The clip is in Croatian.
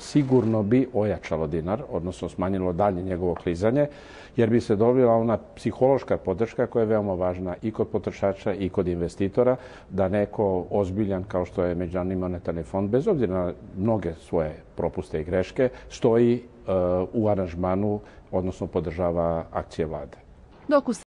sigurno bi ojačalo dinar, odnosno smanjilo dalje njegovo klizanje, jer bi se dobila ona psihološka podrška koja je veoma važna i kod potrošača i kod investitora, da neko ozbiljan kao što je Međunarodni monetarni fond, bez obzira na mnoge svoje propuste i greške, stoji u aranžmanu, odnosno podržava akcije vlade.